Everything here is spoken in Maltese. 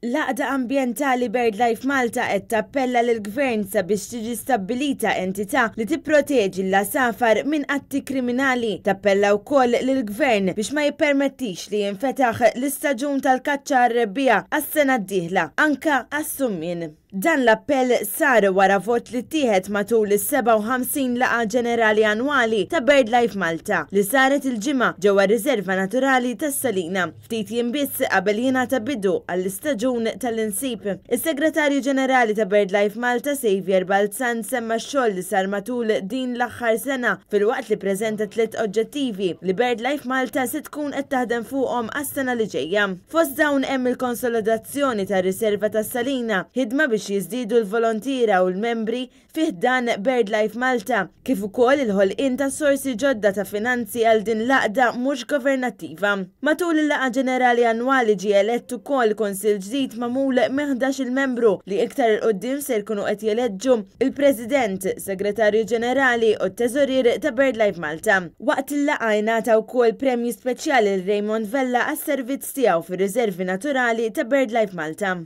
L-għaqda ambjentali BirdLife Malta qed tappella lill-Gvern sabiex tiġi stabbilita entità li tipproteġi l-għasafar minn atti kriminali. Tappella wkoll lill-Gvern biex ma jippermettix li jinfetaħ l-istaġun tal-kaċċa għar-rebbiegħa għas-sena d-dieħla, anke għas-summien. Dan l-appell sar wara vot li ttieħed matul is-57 Laqgħa Ġenerali Annwali ta' BirdLife Malta li saret il-Ġimgħa ġewwa r-Riserva Naturali tas-Salina, ftit jiem biss qabel jingħata bidu għall-istaġun tal-insib. Is-Segretarju Ġenerali ta' BirdLife Malta Saviour Balzan semma x-xogħol li sar matul din l-aħħar sena filwaqt li ppreżenta tliet oġġettivi li BirdLife Malta se tkun qed taħdem fuqhom għas-sena li ġejja. Fost dawn hemm il-konsolidazzjoni tar-Riserva tas-Salina, ħidma biex jiżdiedu l-volontiera u l-membri fi ħdan BirdLife Malta, kif ukoll il-ħolqien ta' sorsi ġodda ta' finanzi għal din l-għaqda mhux governattiva. Matul il-Laqgħa Ġenerali Annwali ġie elett ukoll Kunsill ġdid magħmul minn 11-il membru li iktar 'il quddiem ser jkunu qed jeleġġu l-President, Segretarju Ġenerali u t-Teżorier ta' BirdLife Malta. Waqt il-laqgħa ingħata wkoll premju speċjali lil Raymond Vella għas-servizz tiegħu fir-riservi naturali ta' BirdLife Malta.